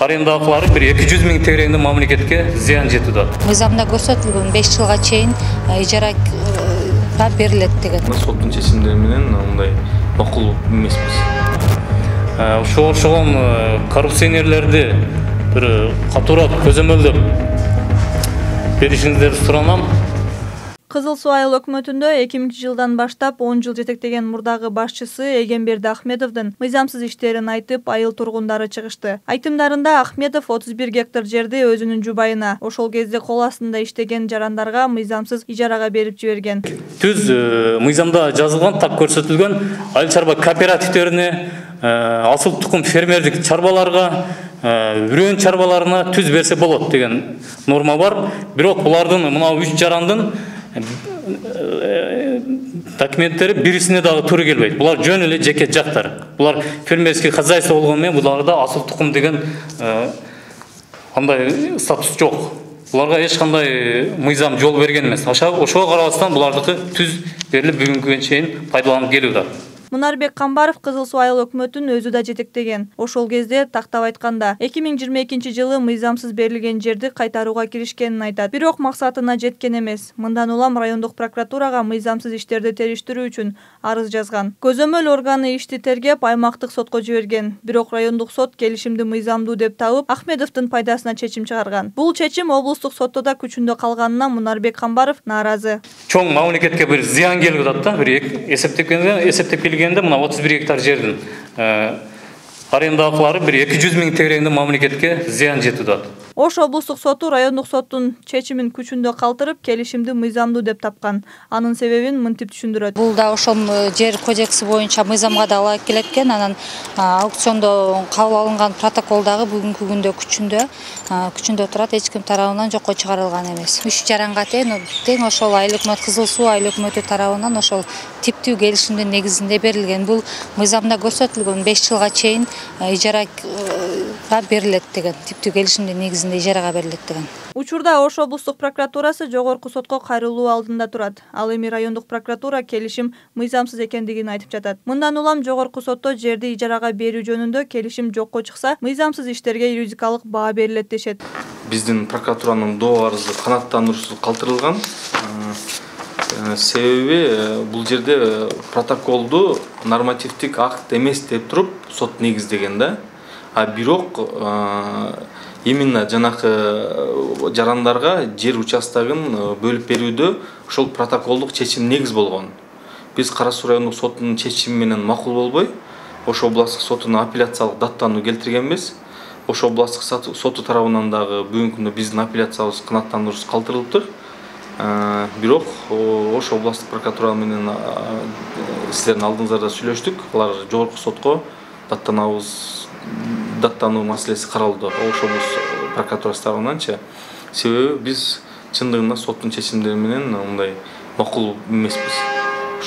Аренда акылары 200 миң тегереңден мамлекетке зыян жетүүдө. Мыйзамда көрсөтүлгөн 5 жылга чейин ижарага берилет деген. Соттун чечимдери менен мындай макул эмеспиз. Ошол коррупционерлерди бир катуураак көзөмөлдөп беришиңиздерди суранам. Кызыл Суу айыл өкмөтүндө 2000-жылдан баштап 10 жыл жетектеген мурдагы башчысы Эгемберди Ахмедовдун мыйзамсыз иштерин айтып, айыл тургундары чыгышты. Айтымдарында Ахмедов 31 гектар жерди өзүнүн жубайына, ошол кезде кол астында иштеген жарандарга мыйзамсыз ижарага берип жиберген. Түз мыйзамда жазылган, так көрсөтүлгөн айыл чарба кооперативтерине, асыл тукум фермердик чарбаларга, үрөн чарбаларына түз берсе болот деген норма бар. Бирок булардын мына 3 жарандын документтери бирисине дагы туура келбейт. Булар жөн эле жеке жактар. Булар фермерский хозяйство болгону менен буларда асыл тукум деген андай статус жок. Буларга эч кандай мыйзам жол берген эмес. Ошого карабастан булардыкы түз берилип бүгүнгүгө чейин пайдаланып келүүдө. Мунарбек Камбаров Кызыл Суу айыл өкмөтүн өзү да жетектеген. Ошол кезде тактап айтканда 2022-жылы мыйзамсыз берилген жерди кайтарууга киришкенин айтат. Бирок максатына жеткен эмес. Мындан улам райондук прокуратурага мыйзамсыз иштерди териштирүү үчүн арыз жазган. Көзөмөл органы ишти тергеп, аймактык сотко жиберген. Бирок райондук сот келишимди мыйзамдуу деп табып, Ахмедовдун пайдасына чечим чыгарган. Бул чечим облустук сотто да күчүндө калганына Мунарбек Камбаров нааразы. Чоң мамлекетке бир зыян келип атат да, бир эсептеп келгенде мына 31 гектар жердин аренда акылары 200 миң тегереңден мамлекетке зыян жетүүдө. Ош облустук соту райондук соттун чечимин күчүндө калтырып, келишимди мыйзамдуу деп тапкан. Анын себебин мынтип түшүндүрөт. Бул да ошол жер кодекси боюнча мыйзамга да ылайык келет экен. Анан аукциондо кабыл алынган протокол дагы бүгүнкү күндө күчүндө турат, эч ким тарабынан жокко чыгарылган эмес. 3 жаранга тең ошол айыл өкмөт Кызыл Суу айыл өкмөтү тарабынан ошол типтүү келишимдин негизинде берилген. Бул мыйзамда көрсөтүлгөн 5 жылга чейин ижарага берилет деген. Типтүү келишимдин негизинде ижарага берилет деген. Учурда Ош облустук прокуратурасы жогорку сотко кайрылуу алдында турат. Ал эми райондук прокуратура келишим мыйзамсыз экендигин айтып жатат. Мындан улам жогорку сотто жерди ижарага берүү жөнүндө келишим жокко чыкса, мыйзамсыз иштерге юридикалык баа берилет дешет. Биздин прокуратуранын доо арызы канааттандыруусуз калтырылган. Себеби бул жерде протоколду нормативдик акт эмес деп туруп сот негиздеген да. Бирок именно жанакы жарандарга жер участогун бөлүп берүүдө ошол протоколдук чечим негиз болгон. Биз Кара Суу райондук сотунун чечими менен макул болбой, Ош областык сотуна апелляциялык даттануу келтиргенбиз. Ош областык соту тарабынан дагы бүгүнкү күндө биздин апелляциябыз канааттандыруусуз калтырылыптыр. Бирок Ош областык прокуратура менен силердин алдыңыздарда сүйлөштүк. Алар жогорку сотко даттануу маселеси каралды. Ош облустук прокуратурасы тарабынан. Себеби биз чындыгында соттун чечимдери менен мындай макул эмеспиз.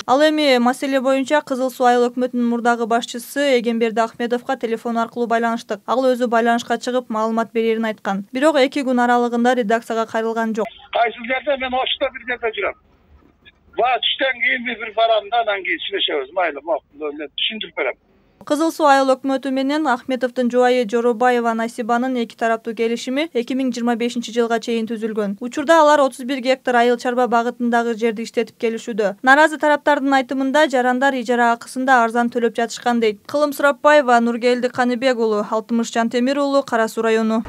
Ал эми маселе боюнча Кызыл Суу айыл өкмөтүнүн мурдагы башчысы Эгемберди Ахмедовго телефон аркылуу байланыштык. Ал өзү байланышка чыгып маалымат берерин айткан. Бирок 2 күн аралыгында редакцияга кайрылган жок. Кайсы жерде мен Ошто бир жерде жүрөм. Түштөн кийин бир барам да, анан кийин сүйлөшөбүз. Майли, мен түшүндүрүп берем. Кызыл Суу айыл өкмөтү менен Ахмедовдун жубайы Жоробаева Насибанын 2 тараптуу келишими 2025-жылга чейин түзүлгөн. Учурда алар 31 гектар айыл чарба багытындагы жерди иштетип келишүүдө. Наразы тараптардын айтымында жарандар ижара акысында арзан төлөп жатышкан дейт. Кылым Сурапбаева, Нургелди Каныбек уулу, Алтымыш Жантемир уулу, Кара Суу району.